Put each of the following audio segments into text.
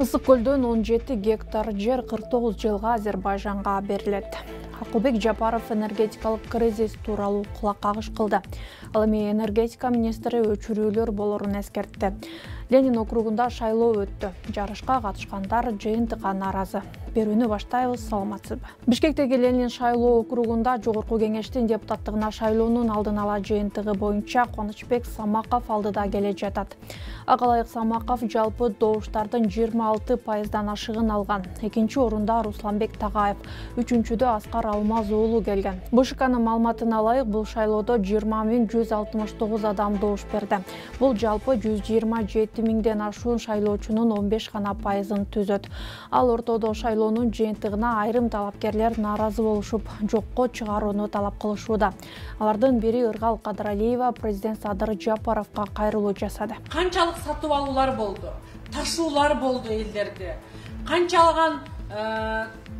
Ысык көлдөн 17 гектар жер 49 жылга Азербайжанга берилет. Акылбек Жапаров энергетикалык кризис тууралуу кулак кагыш кылды. Ал эми энергетика министри өчүрүүлөр болорун эскертти. Ленин округунда шайлоо өттү. Жарышка катышкандар жыйынтыкка нааразы. Берүүнү баштайбыз, саламатсызбы. Бишкектеги Ленин шайлоо округунда жогорку кеңештин депутаттыгына шайлоонун алдын ала жыйынтыгы боюнча Кубанычбек Самаков алдыда келе жатат. Ага ылайык Самаков жалпы добуштардын 26%дан ашыгын алган. Экинчи орунда Русланбек Тагаев, үчүнчүдө Аскар Алмаз уулу келген. БШКнын маалыматына ылайык бул шайлоодо 20.169 адам добуш берди. Бул жалпы 127 миңден ашуун шайлоочунун 15 гана пайызын түзөт. Ал ортодо шайлоонун жыйынтыгына айрым талапкерлер нааразы болушуп, жокко чыгарууну талап кылышууда. Алардын бири Ыргал Кадыралиева президент Садыр Жапаровго кайрылуу жасады. Канчалык сатып алуулар болду, ташуулар болду элдерде, канчалган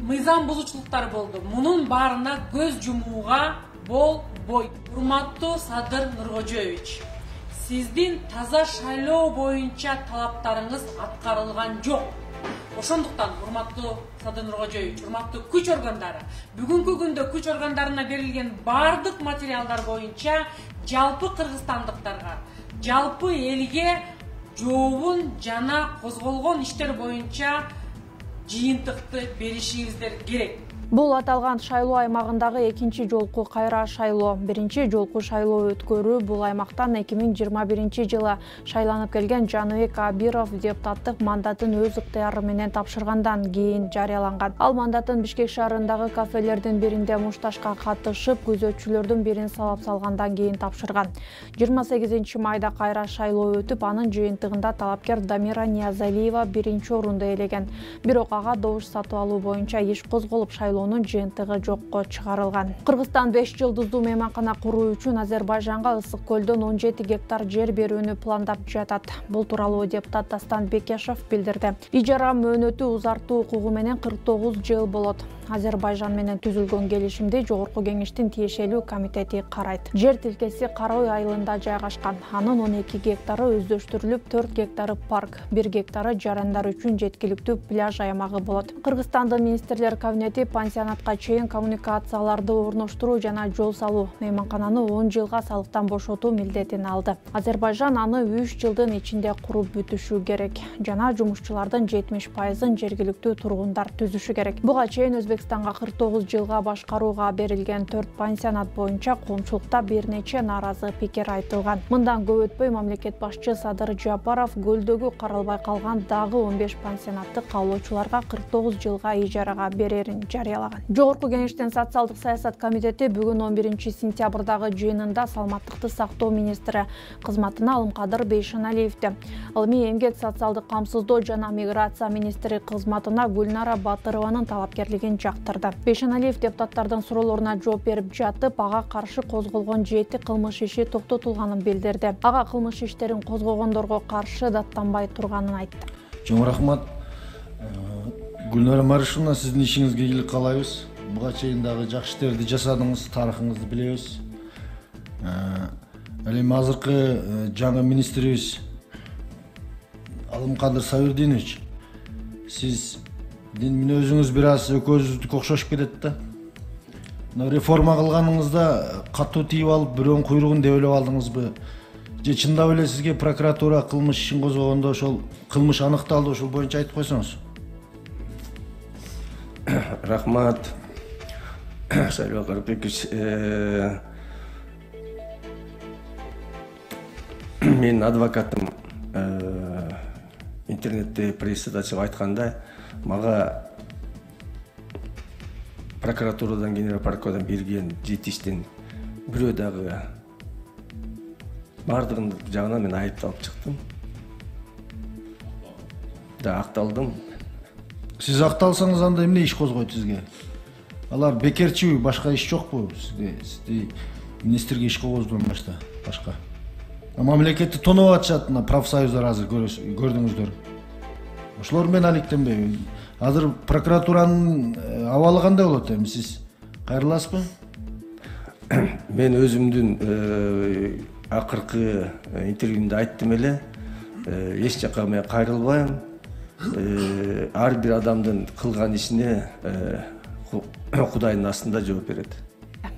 мыйзам бузуучулуктар болду. Мунун баарына көз жумууга болбойт. Урматтуу Садыр Нуркожоевич, сиздин таза шайлоо боюнча талаптарыңыз аткарылган жок. Ошондуктан урматтуу Садыр Нуркожоевич, урматтуу күч органдары, бүгүнкү күндө күч органдарына берилген бардык материалдар боюнча жалпы кыргызстандыктарга, жалпы элге жообун жана козголгон иштер боюнча жыйынтыкты беришиңиздер керек. Бул аталган шайлоо аймагындагы экинчи жолку кайра шайлоо. Биринчи жолку шайлоо өткөрүү бул аймактан 2021 жылы шайланып келген Жаныбек Абиров депутаттык мандатын өз ыктыяры менен тапшыргандан кийин жарыяланган. Ал мандатын Бишкек шаарындагы кафелердин биринде мушташка катышып, күзөтчүлөрдүн бирин сабап салгандан кийин тапшырган. 28 майда кайра шайлоо өтүп, анын жыйынтыгында талапкер Дамира Ниязалиева биринчи орунду ээлеген. Бирок ага добуш сатып алуу боюнча иш козголуп, шайлоонун жыйынтыгы жокко чыгарылган. Кыргызстан 5 жылдыздуу мейманкана куруу үчүн Азербайжанга Ысык көлдөн 17 гектар жер берүүнү пландап жатат. Бул тууралуу депутат Дастан Бекешев билдирди. Ижара мөөнөтү узартуу укугу менен 49 жыл болот. Азербайжан менен түзүлгөн келишимди жогорку кеңештин тиешелүү комитети карайт. Жер тилкеси Карой айылында жайгашкан. Анын 12 гектары өздөштүрүлүп, 4 гектары парк, 1 гектары жарандар үчүн жеткиликтүү пляж аймагы болот. Кыргызстандын министрлер кабинети пансионатка чейин коммуникацияларды орноштуруу жана жол салуу, мейманкананы 10 жылга салыктан бошотуу милдетин алды. Азербайжан аны 3 жылдын ичинде куруп бүтүшү керек. Жана жумушчулардын 70%ын жергиликтүү тургундар түзүшү керек. Буга чейин Өзбекстанга 49 жылга башкарууга берилген 4 пансионат боюнча коомчулукта бир нече нааразы пикир айтылган. Мындан көп өтпөй мамлекет башчы Садыр Жапаров көлдөгү каралбай калган дагы 15 пансионатты каалоочуларга 49 жылга ижарага берерин жарыялаган. Жогорку кеңештин социалдык саясат комитети бүгүн 11 сентябрдагы жыйынында саламаттыкты сактоо министри кызматына Алымкадыр Бейшеналиевди, ал эми эмгек социалдык камсыздоо жана миграция министри кызматына Гүлнара Батырованын талапкерлигин жактырды. Бейшеналиев депутаттардын суроолоруна жооп берип жатып, ага каршы козголгон 7 кылмыш иши токтотулганын билдирди. Ага кылмыш иштерин козгогондорго каршы даттанбай турганын айтты. Чоң рахмат. Гүлнара Маришовна, сиздин ишиңизге ийгилик каалайбыз. Буга чейин дагы жакшы иштерди жасадыңыз, тарыхыңызды билебиз. Ал эми азыркы жаңы министрибиз Алымкадыр Сабирдинович, сиздин мүнөзүңүз бир аз экөөбүздүкү окшошуп кетет да. Реформа кылганыңызда катуу тийип алып, бирөөнүн куйругун деп ойлоп алдыңызбы? Же чындап эле сизге прокуратура кылмыш ишин козгогондо ошол кылмыш аныкталды, ошол боюнча айтып койсоңуз? Рахмат, Шайлоо Карпекович. Менин адвокатым интернетте прессада чыгып айткандай, мага прокуратурадан, генерал прокурордон берген 7 иштин бирөө дагы бардыгын жагынан мен айыпталып чыктым. Да, акталдым. Сиз акталсаңыз анда эмне иш козгойт сизге? Алар бекерчиби, башка иш жокпу сизге? Сизди министрге иш койгоздон башка. Мамлекетти тоноп атышат, профсоюздар азыр көрдүңүздөр. Ошолор менен алектенбейби? Азыр прокуратуранын абалы кандай болот эми, сиз кайрыласызбы? Мен өзүмдүн акыркы интервьюмда айттым эле, эч жака мен кайрылбайм. ар бир адамдын кылган ишине Кудайдын астында жооп берет.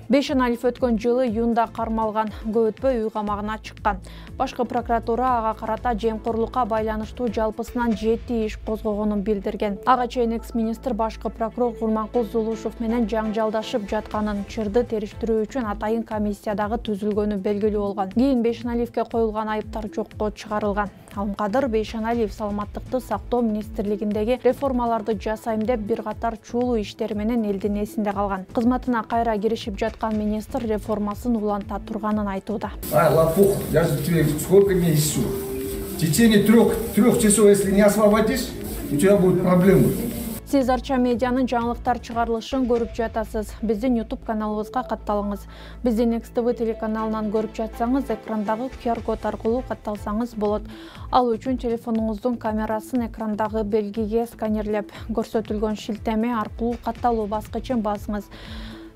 Бейшеналиев өткөн жылы июнда кармалган, көп өтпөй үй камагына чыккан. Башкы прокуратура ага карата жемкорлукка байланыштуу жалпысынан 7 иш козгогонун билдирген. Ага чейин экс-министр башкы прокурор Курманкул Зулушев менен жаңжалдашып жатканын, чырды териштирүү үчүн атайын комиссия дагы түзүлгөнү белгилүү болгон. Кийин Бейшеналиевке коюлган айыптар жокко чыгарылган. Алымкадыр Бейшеналиев саламаттыкты сактоо министрлигиндеги реформаларды жасайм деп бир катар чуулуу иштери менен элдин эсинде калган. Кызматына кайра киришип жаткан министр реформасын уланта турганын айтууда. Лопух, я же тебе сколько месяцев? В течение трех часов, если не освободишь, у тебя будут проблемы. Сиз Арча медианын жаңылыктар чыгарылышын көрүп жатасыз. Биздин YouTube каналыбызга катталыңыз. Биздин Next TV телеканалынан көрүп жатсаңыз, экрандагы QR код аркылуу катталсаңыз болот. Ал үчүн телефонуңуздун камерасын экрандагы белгиге сканерлеп, көрсөтүлгөн шилтеме аркылуу катталуу баскычын басыңыз.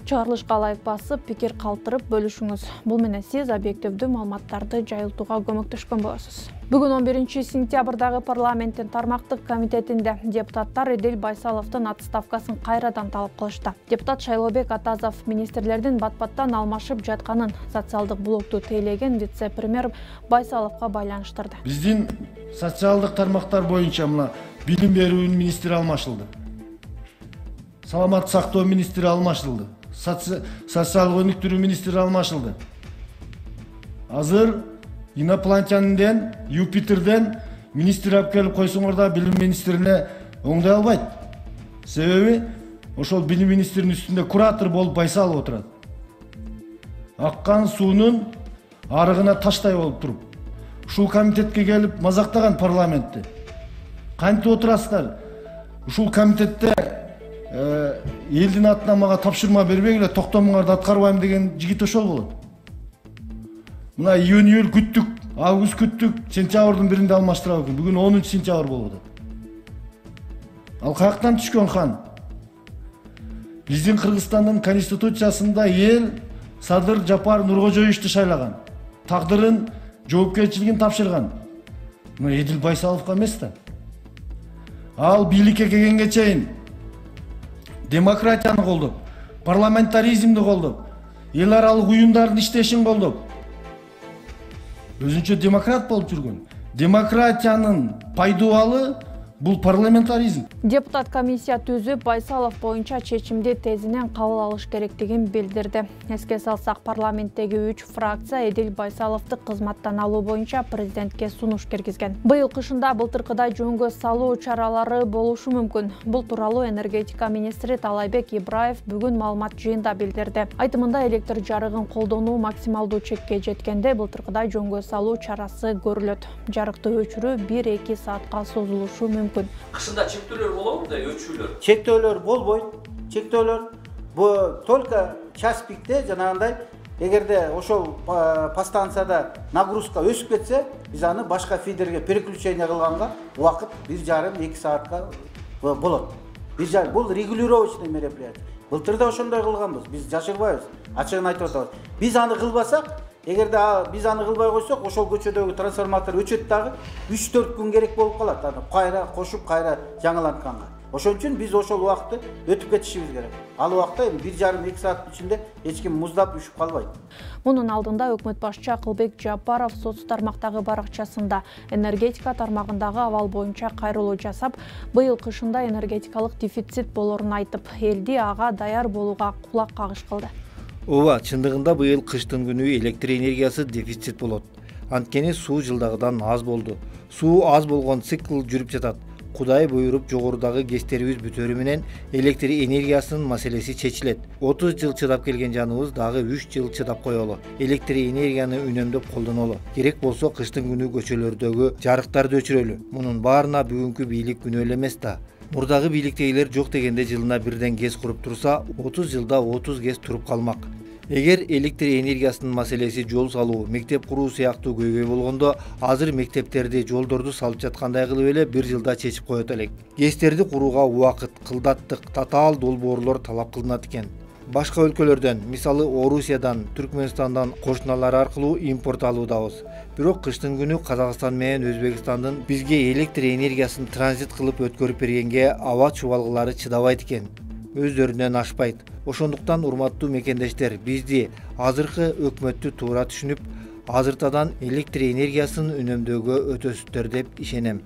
Чыгарылышка ылайык басып, пикир калтырып бөлүшүңүз. Бул менен сиз объективдүү маалыматтарды жайылтууга көмөктөшкөн болосуз. Бүгүн 11 сентябрдагы парламенттин тармактык комитетинде депутаттар Эдил Байсаловдун отставкасын кайрадан талап кылышты. Депутат Шайлообек Атазов министрлердин бат-баттан алмашып жатканын социалдык блокту тейлеген вице-премьер Байсаловго байланыштырды. Биздин социалдык тармактар боюнча мына билим берүү министри алмашылды. Саламаттык сактоо министри алмашылды. Социалдык өнүктүрүү министри алмашылды. Азыр инопланетянден, Юпитерден министр алып келип койсоңор да билим министрине оңдой албайт. Себеби ошол билим министринин үстүндө куратор болуп Байсалов отурат. Аккан суунун арыгына таштай болуп туруп, ушул комитетке келип мазактаган парламентти. Кантип отурасыздар? Ушул комитетте элдин атынан мага тапшырма бербегиле, токтомуңарды аткарбайм деген жигит ошол болот. Мына июнь күттүк, август күттүк, сентябрдын 1-inde алмаштырабы экен. Бүгүн 10 сентябрь болуп атат. Ал каяктан түшкөн хан? Биздин Кыргызстандын конституциясында эл Садыр Жапар Нуркожоевичти шайлаган. Тагдырын, жоопкерчилигин тапшырган. Мына Эдил Байсаловго эмес да. Ал бийликке келгенге чейин демократияны колдоп, парламентаризмди колдоп, эл аралык уюмдардын иштешин колдоп, өзүнчө демократ болуп жүргөн. Демократиянын пайдубалы бул парламентаризм. Депутат комиссия түзүп, Байсалов боюнча чечимди тезинен кабыл алыш керектигин билдирди. Эске салсак, парламенттеги 3 фракция Эдил Байсаловду кызматтан алуу боюнча президентке сунуш киргизген. Быйыл кышында былтыркыдай жөнгө салуу чаралары болушу мүмкүн. Бул тууралуу энергетика министри Талайбек Ибраев бүгүн маалымат жыйында билдирди. Айтымында электр жарыгын колдонуу максималдуу чекке жеткенде былтыркыдай жөнгө салуу чарасы көрүлөт. Жарыкты өчүрүү 1-2 саатка созулушу мүмкүн. Кышында чектөөлөр болобу да, өчүүлөр? Чектөөлөр болбойт. Чектөөлөр бу только час пикте жанагындай эгерде ошол подстанцияда нагрузка өсүп кетсе, биз аны башка фидерге переключение кылганга убакыт 1,5-2 саатка болот. Бул регулировочный мероприятие. Былтыр да ошондой кылганбыз. Биз жашырбайбыз. Ачыгын айтып атабыз. Биз аны кылбасак, эгерде биз аны кылбай койсок, ошол көчөдөгү трансформатор өчөт дагы 3-4 күн керек болуп калат. Аны кайра кошуп, кайра жаңылантканга. Ошон үчүн биз ошол убакытты өтүп кетишибиз керек. Ал убакта 1,5-2 саат ичинде эч ким муздап үшүп калбайт. Мунун алдында өкмөт башчысы Акылбек Жапаров соц тармактагы баракчасында энергетика тармагындагы абал боюнча кайрылуу жасап, быйыл кышында энергетикалык дефицит болорун айтып, элди ага даяр болууга кулак кагыш кылды. Ооба, чындыгында быйыл кыштын күнү электр энергиясы дефицит болот. Анткени суу жылдагыдан аз болду. Суу аз болгон цикл жүрүп жатат. Кудай буйруп жогорудагы гэстерибиз бүтөрү менен электр энергиясынын маселеси чечилет. 30 жыл чыдап келген жаныбыз дагы 3 жыл чыдап коелу. Электр энергияны үнөмдөп колдонолу. Керек болсо кыштын күнү көчөлөрдөгү жарыктарды өчүрөлү. Мунун баарына бүгүнкү бийлик күнөө эле эмес да. Мурдагы бийликтегилер жок дегенде жылына бирден ГЭС куруп турса, 30 жылда 30 ГЭС туруп калмак. Эгер электр энергиясынын маселеси жол салуу, мектеп куруу сыяктуу көйгөй болгондо, азыр мектептерди, жолдорду салып жаткандай кылып эле 1 жылда чечип коет элек. ГЭСтерди курууга убакыт, кылдаттык, татаал долбоорлор талап кылынат экен. Башка өлкөлөрдөн, мисалы Орусиядан, Түркмөнстандан кошуналар аркылуу импорт алуудабыз. Бирок кыштын күнү Казакстан менен Өзбекстандын бизге электр энергиясын транзит кылып өткөрүп бергенге аба чубалгылары чыдабайт экен. Өздөрүнөн ашпайт. Ошондуктан урматтуу мекендештер, бизди азыркы өкмөттү туура түшүнүп, азыртадан электр энергиясын үнөмдөөгө өтөсүздөр деп ишенем.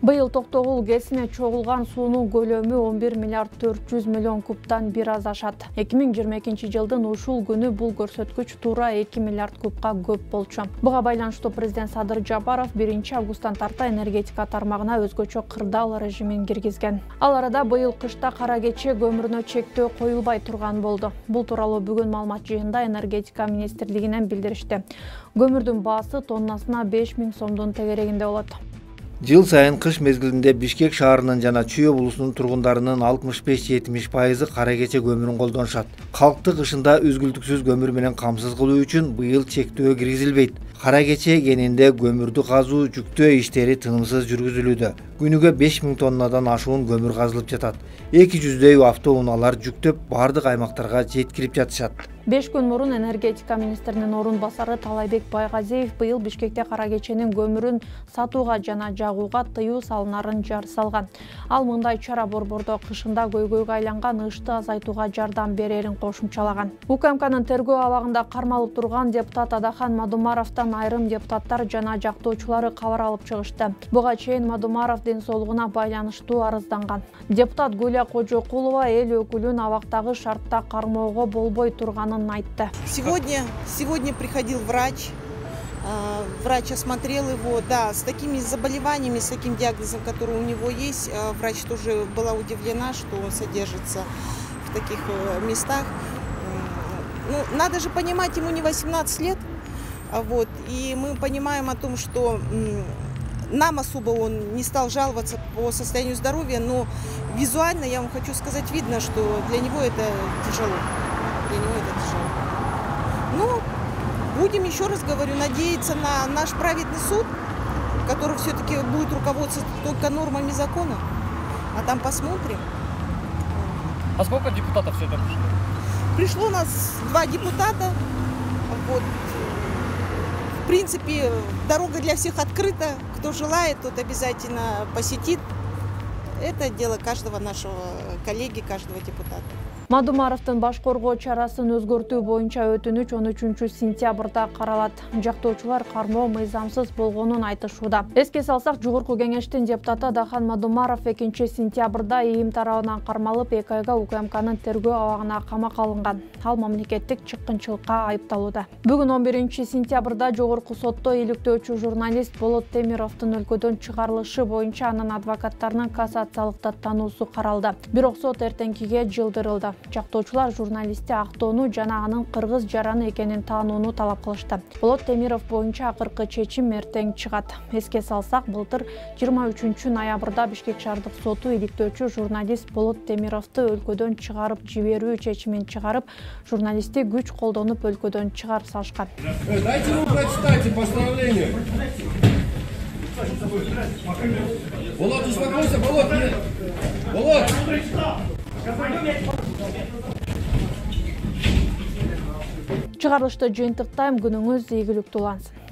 Быйыл Токтогул ГЭСине чогулган суунун көлөмү 11 миллиард 400 миллион кубтан бир аз ашат. 2022 жылдын ушул күнү бул көрсөткүч туура 2 миллиард кубка көп болчу. Буга байланыштуу президент Садыр Жапаров 1-августтан тарта энергетика тармагына өзгөчө кырдаал режимин киргизген. Ал арада быйыл кышта кара кече көмүрүнө чектөө коюлбай турган болду. Бул тууралуу бүгүн маалымат жыйында энергетика министрлигинен билдиришти. Көмүрдүн баасы тоннасына 5000 сомдун тегерегинде болот. Жыл сайын кыш мезгилинде Бишкек шаарынын жана Чүй облусунун тургундарынын 65-70% кара кече көмүрүн колдонушат. Калкты кышында үзгүлтүксүз көмүр менен камсыз кылуу үчүн быйыл чектөө киргизилбейт. Кара кече кенинде көмүрдү казуу, жүктөө иштери тынымсыз жүргүзүлүүдө. Күнүгө 5000 тоннадан ашуун көмүр казылып жатат. 200дөй автоунаалар жүктөп бардык аймактарга жеткирип жатышат. 5 күн мурун энергетика министринин орун басары Талайбек Байгазиев быйыл Бишкекте кара кеченин көмүрүн сатууга жана жагууга тыюу салынарын жар салган. Ал мындай чара борбордо кышында көйгөйгө айланган ышты азайтууга жардам берерин кошумчалаган. УКМКнын тергөө абагында кармалып турган депутат Адахан Мадумаровдон айрым депутаттар жана жактоочулары кабар алып чыгышты. Буга чейин Мадумаров ден соолугуна байланыштуу арызданган. Депутат Гүлия Кожокулова эл өкүлүн абактагы шартта кармоого болбой турганын айтты. Сегодня приходил врач. Врач осмотрел его, да, с такими заболеваниями, с таким диагнозом, который у него есть. Врач тоже была удивлена, что он содержится в таких местах. Ну, надо же понимать, ему не 18 лет. Вот, и мы понимаем о том, что нам особо он не стал жаловаться по состоянию здоровья, но визуально, я вам хочу сказать, видно, что для него это тяжело. Ну, будем, еще раз говорю, надеяться на наш праведный суд, который все-таки будет руководствоваться только нормами закона. А там посмотрим. А сколько депутатов все это пришло? Пришло у нас 2 депутата. Вот. В принципе, дорога для всех открыта. Кто желает, тот обязательно посетит. Это дело каждого нашего коллеги, каждого депутата. Мадумаровдун баш коргоо чарасын өзгөртүү боюнча өтүнүч 13-сентябрда каралат. Жактоочулар кармоо мыйзамсыз болгонун айтышууда. Эске салсак, жогорку кеңештин депутаты Адахан Мадумаров 2-сентябрда ИИМ тарабынан кармалып 2 айга УКМКнын тергөө абагына камакка алынган. Ал мамлекеттик чыккынчылыкка айыпталууда. Бүгүн 11-сентябрда жогорку сотто иликтөөчү журналист Болот Темировдун өлкөдөн чыгарылышы боюнча анын адвокаттарынын кассациялык даттануусу каралды. Бирок сот эртеңкиге жылдырылды. Жактоочулар журналистти актоону жана анын кыргыз жараны экенин таанууну талап кылышты. Болот Темиров боюнча акыркы чечим эртең чыгат. Эске салсак, былтыр 23-ноябрда Бишкек шаардык соту иликтөөчү журналист Болот Темировду өлкөдөн чыгарып жиберүү чечимин чыгарып, журналистти күч колдонуп өлкөдөн чыгарып салышкан. Дайте ему прочитайте постановление. Болот, успокойся, Болот. Болот! Чыгарылышты жыйынтыктайм, күнүңүз ийгиликтүү улансын.